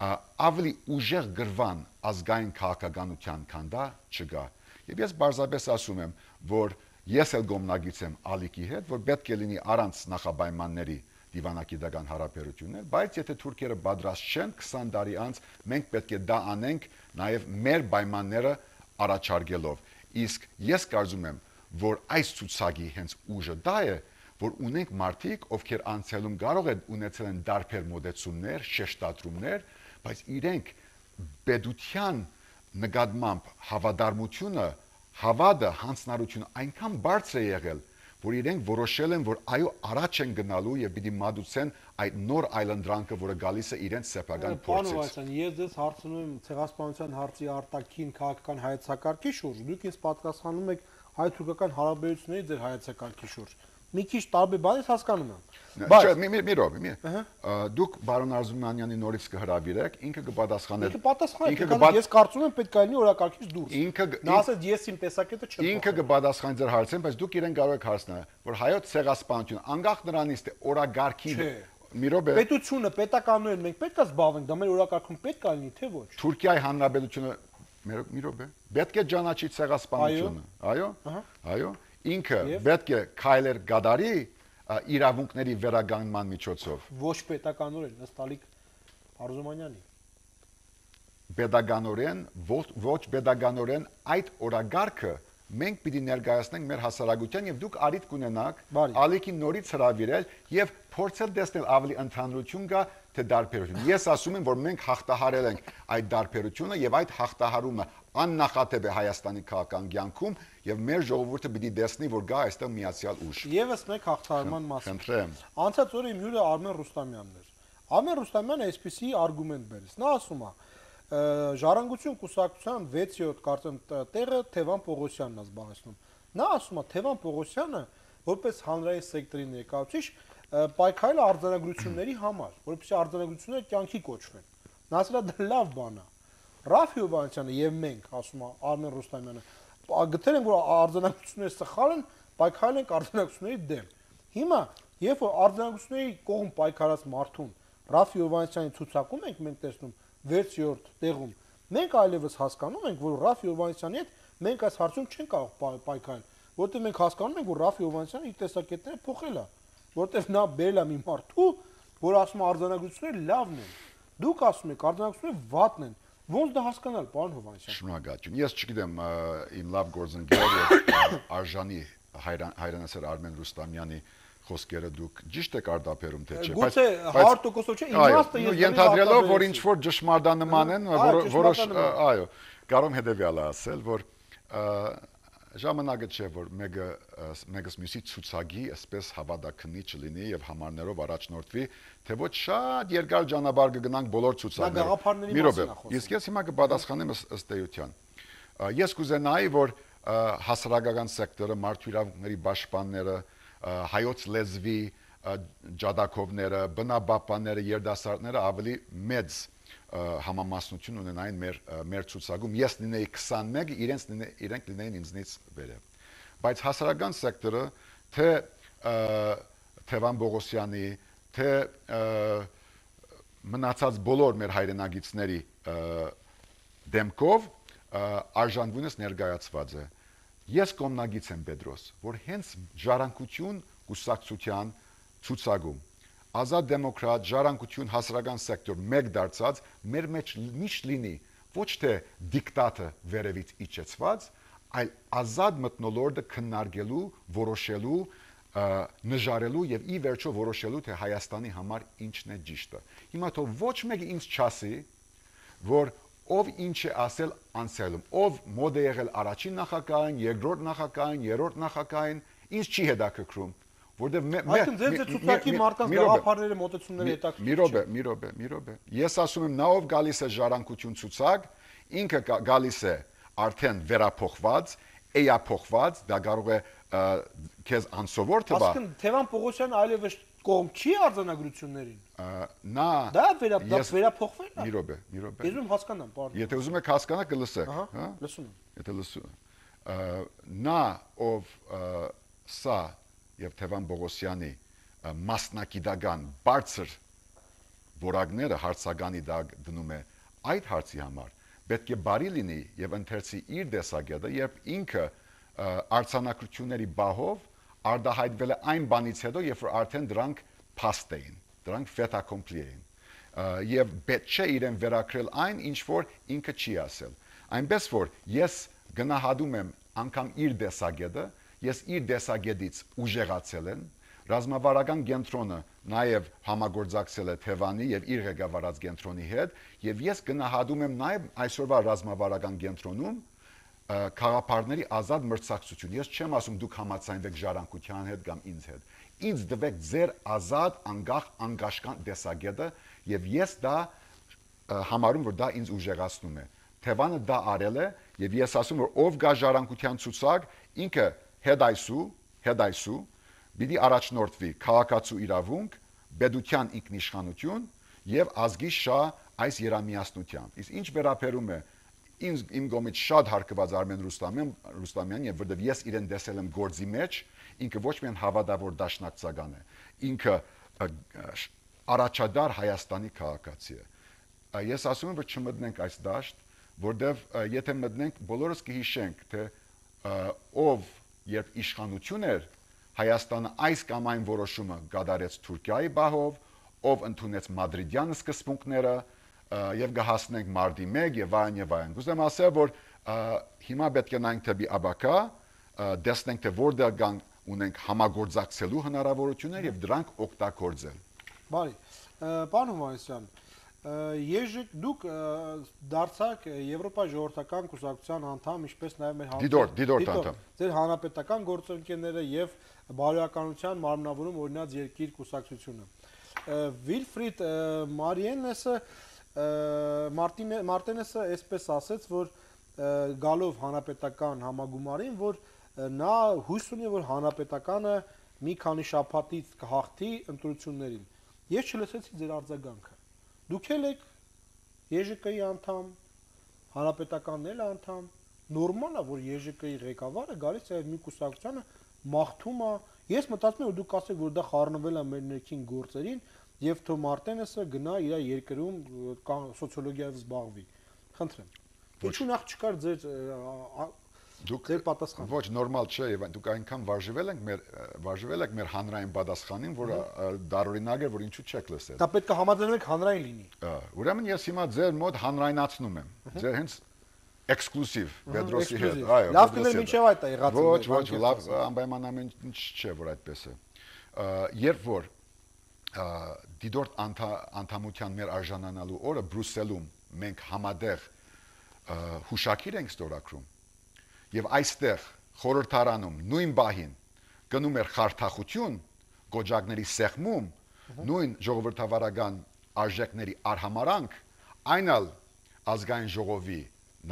ավելի ուժեղ գրվան ազգային քաղաքականության, քան դա չկա։ Եվ ես բարձրապես ասում եմ, որ ես էլ գոմնագից եմ ալիքի հետ, որ պետք է լինի առանց նախապայմանների դիվանագիտական հարաբերություններ, բայց եթե թուրքերը պատրաստ չեն քսան տարի անց, մենք պետք է դա անենք նաև մեր պայմանները առաջարկելով։ Իսկ ես կարծում եմ, որ այս ցուցակի հենց ուժը դա է, որ ունենք մարդիկ, ովքեր անցյալում կարող են ունեցել են դարբեր մոտեցումներ, շեշտադրումներ, բայց իրենք պետության նկատմամբ հավատարմությունը, հավատը, հանձնարարությունը այնքան բարձր է եղել, որ իրենք որոշել են, որ այո, առաջ են գնալու եւ պիտի մատուցեն այդ նոր այլընտրանքը, որը գալիս է իրենց սեփական փորձից։ Ես ձեզ հարցնում եմ ցեղասպանության հարցի արտաքին քաղաքական հայեցակարգի շուրջ, դուք ինձ պատասխանում եք հայ-թուրքական հարաբերությունների ձեր հայեցակարգի շուրջ։ Մի քիչ տարբեր բան ես հասկանում եմ։ Բայց մի մի մի ռոբ, մի։ Դուք բարոն Արզումանյանի նորից կհրավիրեք, ինքը կպատասխաներ։ Ինքը պատասխաներ, ես կարծում եմ պետք է լինի օրակարգից դուրս։ Ինքը նա ասեց ես իմ տեսակետը չեմ։ Ինքը կպատասխանի ձեր հարցին, բայց դուք իրեն կարող եք հարցնել, որ հայոց ցեղասպանությունը անկախ նրանից թե օրակարգի մի ռոբ է։ Պետությունը, պետականորեն մենք պետք է զբաղվենք, դա մեր օրակարգում պետք է լինի, թե ոչ։ Թուրքիայի հանրապետությունը մի ռոբ է։ Պետք է ճանաչի ցեղասպանությունը։ Այո։ Այո։ Ինքը պետք է քայլեր գադարի իրավունքների վերագանման միջոցով։ Ոչ պետականորեն, ըստ Ալիկ Արզումանյանի։ Պետականորեն, ոչ պետականորեն այդ օրագարկը մենք պիտի ներկայացնենք մեր հասարակության եւ դուք արիտ կունենաք Ալիկին նորից հրավիրել եւ փորձել տեսնել ավելի ընդհանրություն կա թե դարբերություն։ Ես ասում եմ, որ մենք հաղթահարել ենք այդ դարբերությունը եւ այդ հաղթահարումը աննախադեպ է Հայաստանի քաղաքական կյանքում եւ մեր ժողովուրդը պիտի տեսնի, որ գա այստեղ միացյալ ուժ։ Եվս մեկ հաղթահարման մասին։ Խնդրեմ։ Անցած օրը իմ հյուրը Արմեն Ռուստամյանն էր։ Արմեն Ռուստամյանը այսպեսի արգումենտ բերեց։ Նա ասում է. Ժառանգություն կուսակցության վեց-յոթ կարծեմ տեղը Թևան Պողոսյանն է զբաղեցնում։ Նա ասում է Թևան Պողոսյանը որպես հանրային սեկտորի ներկայացուցիչ պայքարել է արձանագրությունների համար, որպեսզի արձանագրությունները կյանքի կոչվեն։ Նա ասել է դա լավ բան է։ Ռաֆ Հովհաննիսյանը եւ մենք, ասում է Արմեն Ռուստամյանը, գտել ենք, որ արձանագրությունները սխալ են, պայքարել ենք արձանագրությունների դեմ։ Հիմա, երբ որ արձանագրությունների կողմ պայքարած մարդուն Ռաֆ Հովհաննիսյանի ցուցակում ենք մենք տեսնում վեց-յոթ տեղում, մենք այլևս հասկանում ենք, որ Ռաֆ Հովհաննիսյանի հետ մենք այս հարցում չենք կարող պայքարել, որտեղ մենք հասկանում ենք, որ Ռաֆ Հովհաննիսյանը իր տեսակետները փոխել է, որտեղ նա բերել է մի մարդու, որ ասում է արձանագրությունները լավն են։ Դուք ասում եք արձանագրությունները վատն են։ Ոնց դա հասկանալ, պարոն Հովհաննիսյան։ Շնորհակալություն։ Ես չգիտեմ իմ լավ գործընկեր եւ արժանի հայրենասեր Արմեն Ռուստամյանի խոսքերը դուք ճիշտ եք արտաբերում թե չէ, բայց հարյուր տոկոս չէ, իմաստը ես ենթադրելով, որ ինչ որ ճշմարտանման են, որոշ այո, կարող եմ հետեւյալը ասել, որ ժամանակը չէ, որ մեկը մեկս մյուսի ցուցակի այսպես հավատակնի չլինի եւ համարներով առաջնորդվի, թե ոչ շատ երկար ճանապարհ կգնանք բոլոր ցուցակները։ Մի րոպե, իսկ ես հիմա կպատասխանեմ ըստ էության։ Ես կուզենայի, որ հասարակական սեկտորը, մարդու իրավունքների պաշտպանները, հայոց լեզվի ջադակովները, բնապահպանները, երդասարտները ավելի մեծ համամասնություն ունենային մեր մեր ցուցակում։ Ես լինեի քսանմեկ, իրենց իրենք լինեին ինձնից վերև։ Բայց հասարակական սեկտորը թե Թևան Պողոսյանի, թե մնացած բոլոր մեր հայրենագիտների դեմքով արժանվունս ներկայացված է։ Ես կողմնագից եմ Պետրոս, որ հենց ժառանգություն կուսակցության ցուցակում ազատ դեմոկրատ ժառանգություն հասարակական սեկտոր մեկ դարձած մեր մեջ միշտ լինի ոչ թե դիկտատը վերևից իջեցված, այլ ազատ մթնոլորտը քննարկելու, որոշելու, նժարելու եւ ի վերջո որոշելու թե Հայաստանի համար ինչն է ճիշտը։ Հիմա թող ոչ մեկը ինձ չասի, որ ով ինչ է ասել անցյալում, ով մոդ է եղել առաջին նախագահային, երկրորդ նախագահային, երրորդ նախագահային, ինձ չի հետաքրքրում, որտեղ Այսինքն ձեր ցուցակի մարդկանց գաղափարների մոտեցումները հետաքրքիր։ Մի րոպե, մի րոպե, մի րոպե։ Ես ասում եմ, նա ով գալիս է ժառանգություն ցուցակ, ինքը գալիս է արդեն վերափոխված, էյափոխված, դա կարող է քեզ անսովոր թվա։ Այսինքն Թևան Պողոսյանը այլևս կողմ չի արձանագրություններին։ Նա դա վերափոխվել է։ Մի րոպե, մի րոպե։ Ես ուզում հասկանամ, պարոն։ Եթե ուզում եք հասկանալ, կլսեք, հա։ Լսում եմ։ Եթե լսում եմ։ Նա ով սա եւ Թևան Պողոսյանի մասնակիտական բարձր որակները հարցականի դակ դնում է այդ հարցի համար, պետք է բարի լինի եւ ընթերցի իր դեսագետը, երբ ինքը արձանագրությունների բահով արդահայտվել է այն բանից հետո, երբ որ արդեն դրանք փաստ էին, դրանք fait accompli էին, եւ պետք չէ իրեն վերակրել այն, ինչ որ ինքը չի ասել։ Այնպես որ ես գնահատում եմ անգամ իր դեսագետը, ես իր դեսագետից ուժեղացել եմ, ռազմավարական կենտրոնը նաև համագործակցել է Թևանի եւ իր ղեկավարած կենտրոնի հետ, եւ ես գնահատում եմ նաև այսօրվա ռազմավարական կենտրոնում քաղաքապարների ազատ մրցակցություն։ Ես չեմ ասում դուք համաձայնվեք ժառանգության հետ կամ ինձ հետ։ Ինձ դվեք ձեր ազատ, անկախ, անկաշկան դեսագետը, եւ ես դա համարում, որ դա ինձ ուժեղացնում է։ Թևանը դա արել է, եւ ես ասում որ ով գա ժառանգության ցուցակ, ինքը հետայսու, հետայսու պիտի առաջնորդվի քաղաքացու իրավունք, պետության ինքնիշխանություն եւ ազգի շա այս երամիասնությամբ։ Իսկ ինչ վերաբերում է ինձ իմ գոմից շատ հարգված Արմեն Ռուստամյան, Ռուստամյան, եւ որտեւ ես իրեն տեսել եմ գործի մեջ, ինքը ոչ միայն հավատավոր դաշնակցական է, ինքը առաջադար Հայաստանի քաղաքացի է։ Ես ասում եմ, որ չմտնենք այս դաշտ, որտեւ եթե մտնենք, բոլորս կհիշենք, թե ով երբ իշխանություն էր, Հայաստանը այս կամ այն որոշումը կատարեց Թուրքիայի բահով, ով ընդունեց մադրիդյան սկզբունքները եւ կհասնենք մարտի մեկ եւ այլն եւ այլն։ Ուզում եմ ասել, որ հիմա պետք է նայենք դեպի աբակա, տեսնենք թե որտեղ կան ունենք համագործակցելու հնարավորություններ եւ դրանք օգտագործել։ Բարի, պարոն Հովհաննիսյան, Եժիկ դուք դարձաք Եվրոպա ժողովրդական կուսակցության անդամ, ինչպես նաեւ մեր Դիդորտ, Դիդորտ անդամ։ Ձեր հանրապետական գործընկերները եւ բարոյականության մարմնավորում օրինաց երկիր կուսակցությունը։ Վիլֆրիդ Մարիենեսը Մարտինեսը այսպես ասեց, որ գալով հանրապետական համագումարին, որ նա հույս ունի, որ հանրապետականը մի քանի շաբաթից կհաղթի ընտրություններին։ Ես չլսեցի ձեր արձագանքը։ Դուք եք Ե Ժ Կ-ի անդամ, հանրապետականն էլ անդամ, նորմալ է, որ Ե Ժ Կ-ի ղեկավարը գալիս է մի կուսակցությանը մաղթում է։ Ես մտածում եմ, որ դուք ասեք, որ դա խառնվել է մեր ներքին գործերին, եւ Թո Մարտենեսը գնա իր երկրում սոցիոլոգիայով զբաղվի։ Խնդրեմ։ Ինչու նախ չկար ձեր դուք ձեր պատասխանը։ Ոչ նորմալ չէ, եւ դուք այնքան վարժվել եք մեր վարժվել եք մեր հանրային պատասխանին, որ դարօրինակ է, որ ինչու չեք լսել։ Դա պետք է համաձայնենք հանրային լինի։ Ուրեմն ես հիմա ձեր մոտ հանրայնացնում եմ։ Ձեր հենց էքսկլուզիվ Պետրոսի հետ, այո։ Լավ կներ մինչև այդ է եղած։ Ոչ, ոչ, լավ, անպայման ամեն ինչ չէ, որ այդպես է։ Երբ որ Դիդորտ անդամության մեր արժանանալու օրը Բրյուսելում մենք համատեղ հուշակիր ենք ստորագրում եւ այստեղ խորհրդարանում նույն բահին գնում էր խարթախություն գոջակների սեղմում նույն ժողովրդավարական արժեքների արհամարանք այնալ ազգային ժողովի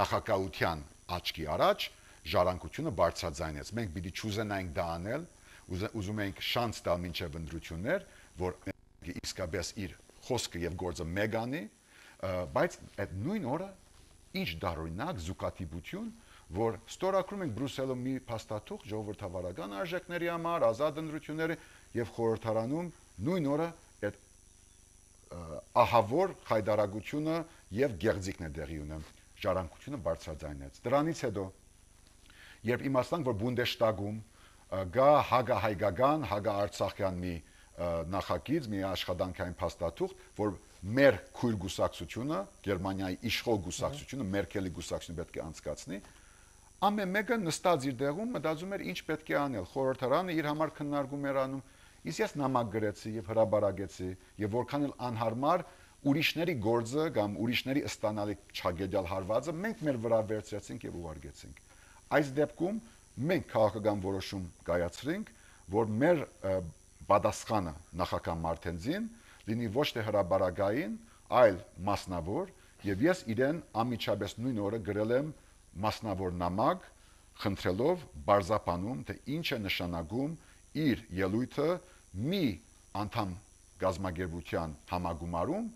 նախագահության աչքի առաջ ժառանգությունը բարձրաձայնեց մենք պիտի չուզենայինք դա անել ուզում էինք շանս տալ մինչև ընտրություններ որ իսկապես իր խոսքը եւ գործը մեկ անի, բայց այդ նույն օրը ինչ դարօրինակ զուգատիպություն, որ ստորագրում ենք Բրյուսելում մի փաստաթուղթ ժողովրդավարական արժեքների համար, ազատ ընտրությունների եւ խորհրդարանում նույն օրը այդ ահավոր խայդարագությունը եւ գեղձիկն է դեղի ունեն, ժառանգությունը բարձրաձայնեց։ Դրանից հետո երբ իմացանք, որ Բունդեշտագում գա հագահայկական, հագաարցախյան մի նախագիծ, մի աշխատանքային փաստաթուղթ, որ մեր քույր գուսակցությունը, Գերմանիայի իշխող գուսակցությունը, Մերկելի գուսակցությունը պետք է անցկացնի, ամեն մեկը նստած իր տեղում մտածում էր ինչ պետք է անել, խորհրդարանը իր համար քննարկում էր անում, իսկ ես նամակ գրեցի եւ հրաբարագեցի եւ որքան էլ անհարմար ուրիշների գործը կամ ուրիշների ստանալի չագետյալ հարվածը մենք մեր վրա վերցրեցինք եւ ուղարկեցինք։ Այս դեպքում մենք քաղաքական որոշում կայացրինք, որ մեր պատասխանը նախագահ Մարտենզին լինի ոչ թե հրաբարագային, այլ մասնավոր, եւ ես իրեն ամիջապես նույն օրը գրել եմ մասնավոր նամակ, խնդրելով բարձապանում, թե ինչ է նշանակում իր ելույթը մի անդամ գազագերբության համագումարում,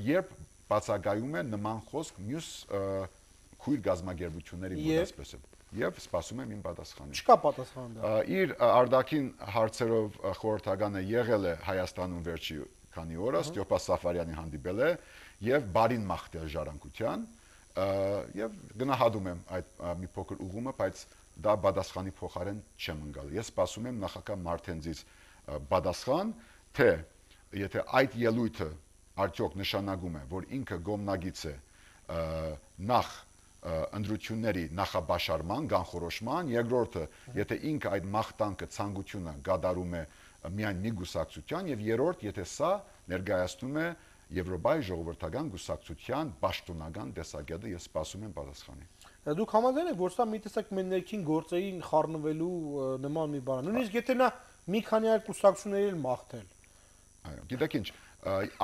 երբ բացակայում է նման խոսք մյուս քույր գազագերբությունների մոտ, այսպես է։ Եվ սպասում եմ իմ պատասխանին։ Չկա պատասխան դա։ Իր արդակին հարցերով խորհրդականը եղել է Հայաստանում վերջի քանի օրը Ստյոպա Սաֆարյանի հանդիպել է եւ բարին մաղթել ժառանգության եւ գնահատում եմ այդ մի փոքր ուղումը, բայց դա բադասխանի փոխարեն չեմ ընկալ։ Ես սպասում եմ նախագահ Մարտենցից բադասխան, թե եթե այդ ելույթը արդյոք նշանակում է, որ ինքը գոմնագից է նախ ընդրությունների նախաբաշարման, կանխորոշման, երկրորդը, եթե ինքը այդ մաղթանքը ցանկությունը գադարում է միայն մի գուսակցության, եւ երրորդ, եթե սա ներկայացնում է Եվրոպայի ժողովրդական գուսակցության պաշտոնական տեսակետը, ես սպասում եմ պատասխանի։ Դուք համաձայն եք, որ սա մի տեսակ մեր ներքին գործերին խառնվելու նման մի բան է։ Նույնիսկ եթե նա մի քանի այլ կուսակցությունների մաղթել։ Այո, գիտեք ինչ,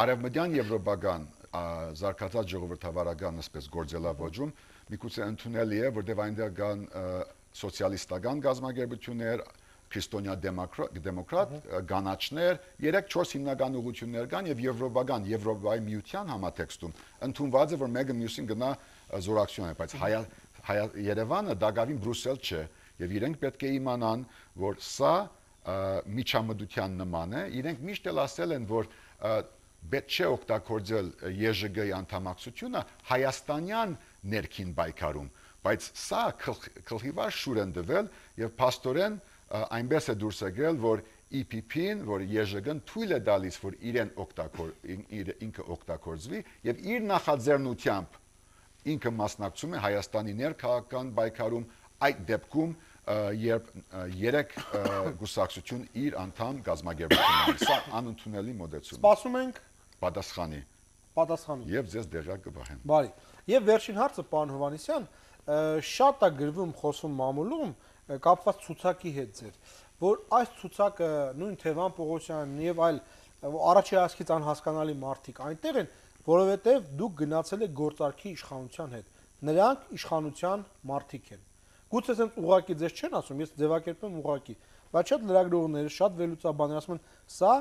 արևմտյան եվրոպական զարգացած ժողովրդավարական ասես գործելավոճում միգուցե ընդունելի է, որտեղ այնտեղ կան սոցիալիստական գազམ་ագերբություններ, քրիստոնյա դեմոկրատ, գանաչներ, երեք չորս հիմնական ուղղություններ կան եւ եվրոպական, Եվրոպայի միության համատեքստում ընդունված է, որ մեկը մյուսին գնա զորակցություն է, բայց Երևանը դակավին Բրուսել չէ եւ իրենք պետք է իմանան, որ սա միջամտության նման է, իրենք միշտ էլ ասել են, որ պետք չէ օգտագործել Է Ժ Գ-ի անդամակցությունը հայաստանյան ներքին պայքարում, բայց սա քլխիվար շուր են դվել եւ փաստորեն այնպես է դուրս եկել, որ Ի Փ Փ-ին, որ Է Ժ Գ-ն թույլ է տալիս, որ իրեն ինքը օգտագործվի եւ իր նախաձեռնությամբ ինքը մասնակցում է Հայաստանի ներքաղաքական պայքարում, այդ դեպքում երբ երեք գուսակցություն իր անդամ գազམ་ագերբությունն սա անընդունելի մոդեցում է։ Սպասում ենք պատասխանի։ Պատասխանի։ Եվ ձեզ դեղակ կբահեմ։ Բարի։ Եվ վերջին հարցը, պարոն Հովհաննիսյան, շատ է գրվում խոսում մամուլում կապված ցուցակի հետ ձեր, որ այս ցուցակը նույն Թևան Պողոսյանն եւ այլ առաջի հասկից անհասկանալի մարդիկ այնտեղ են, որովհետեւ դուք գնացել եք գործարքի իշխանության հետ։ Նրանք իշխանության մարդիկ են։ Գուցե ասենց ուղակի ձեզ չեն ասում, ես ձևակերպեմ ուղակի, բայց շատ լրագրողներ, շատ վերլուծաբաններ ասում են, սա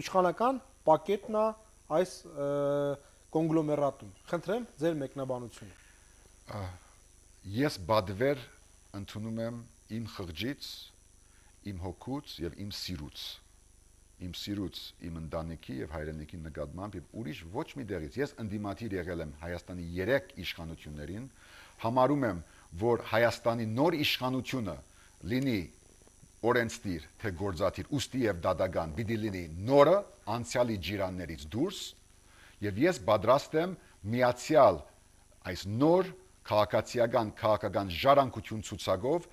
իշխանական պակետն է այս կոնգլոմերատում։ Խնդրեմ ձեր մեկնաբանությունը։ Ես բադվեր ընդունում եմ իմ խղճից, իմ հոգուց եւ իմ սիրուց։ Իմ սիրուց, իմ ընտանիքի եւ հայրենիքի նկատմամբ եւ ուրիշ ոչ մի դերից։ Ես ընդդիմադիր եղել եմ Հայաստանի երեք իշխանություններին, համարում եմ, որ Հայաստանի նոր իշխանությունը լինի օրենսդիր, թե գործադիր, ուստի եւ դատական, պիտի լինի նորը անցյալի ջիրաններից դուրս, եւ ես պատրաստ եմ միացյալ այս նոր քաղաքացիական քաղաքական ժառանգություն ցուցակով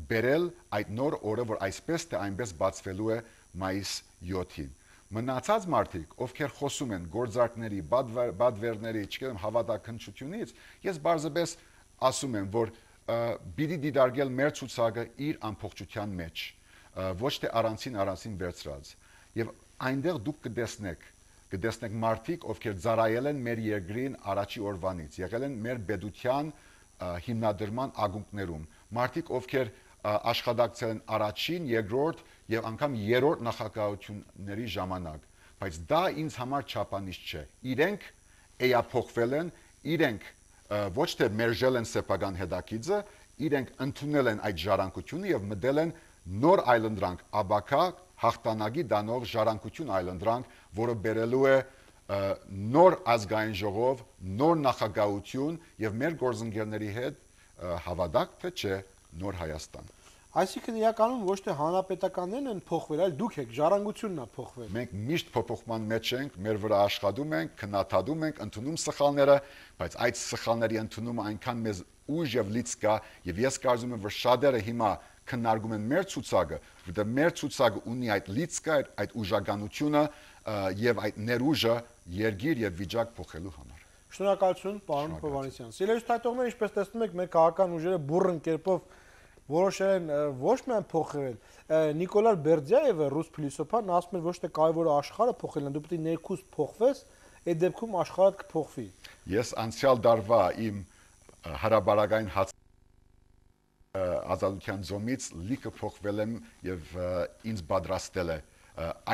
բերել այդ նոր օրը, որ այսպես թե այնպես բացվելու է մայիս յոթին։ Մնացած մարդիկ, ովքեր խոսում են գործարքների, բադվերների, չգիտեմ, հավատաքննչությունից, ես բարձրապես ասում եմ, որ պիտի դիտարկել մեր ցուցակը իր ամբողջության մեջ, ոչ թե առանցին առանցին վերցրած։ Եվ այնտեղ դուք կտեսնեք, կտեսնեք մարդիկ, ովքեր ծառայել են մեր երկրին առաջի օրվանից, եղել են մեր պետության հիմնադրման ակունքներում, մարդիկ, ովքեր աշխատակցել են առաջին, երկրորդ եւ անգամ երրորդ նախագահությունների ժամանակ, բայց դա ինձ համար չափանիշ չէ։ Իրենք էափոխվել են, իրենք ոչ թե մերժել են սեփական հետաքիծը, իրենք ընդունել են այդ ժառանգությունը եւ մտել են նոր այլընտրանք, աբակա հաղթանակի դանող ժառանգություն այլընտրանք, որը բերելու է նոր ազգային ժողով, նոր նախագահություն եւ մեր գործընկերների հետ հավատակ թե չէ նոր Հայաստան։ Այսինքն իրականում ոչ թե հանրապետականներն են փոխվել, այլ դուք եք, ժառանգությունն է փոխվել։ Մենք միշտ փոփոխման մեջ ենք, մեր վրա աշխատում ենք, քննադատում ենք, ընդունում սխալները, բայց այդ սխալների ընդունումը այնքան մեզ ուժ եւ լիցք կա, եւ ես կարծում եմ, որ շատերը հիմա քննարկում են մեր ցուցակը, որտեղ մեր ցուցակը ունի այդ լիցքը, այդ ուժականությունը եւ այդ ներուժը երգիր եւ վիճակ փոխելու համար։ Շնորհակալություն, պարոն Հովհաննիսյան։ Սիրելի թայտողներ, ինչպես տեսնում եք, մեր քաղաքական ուժերը բուրըն կերպով որոշել են ոչ միայն փոխել, Նիկոլա Բերդյայևը, ռուս փիլիսոփան, ասում էր ոչ թե կարևորը աշխարհը փոխելն է, դու պետք է ներքուս փոխվես, այդ դեպքում աշխարհը կփոխվի։ Ես անցյալ դարվա իմ հարաբարական հաց ազատության զոմից լիքը փոխվել եմ եւ ինձ պատրաստել է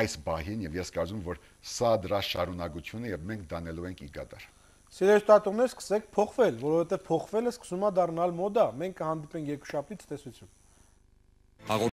այս բահին եւ ես կարծում եմ, որ սա դրա շարունակությունը եւ մենք դանելու ենք իգադար։ Սիրելի տատուներ, սկսեք փոխվել, որովհետեւ փոխվելը սկսում է դառնալ մոդա։ Մենք կհանդիպենք երկուշաբթի ցտեսություն։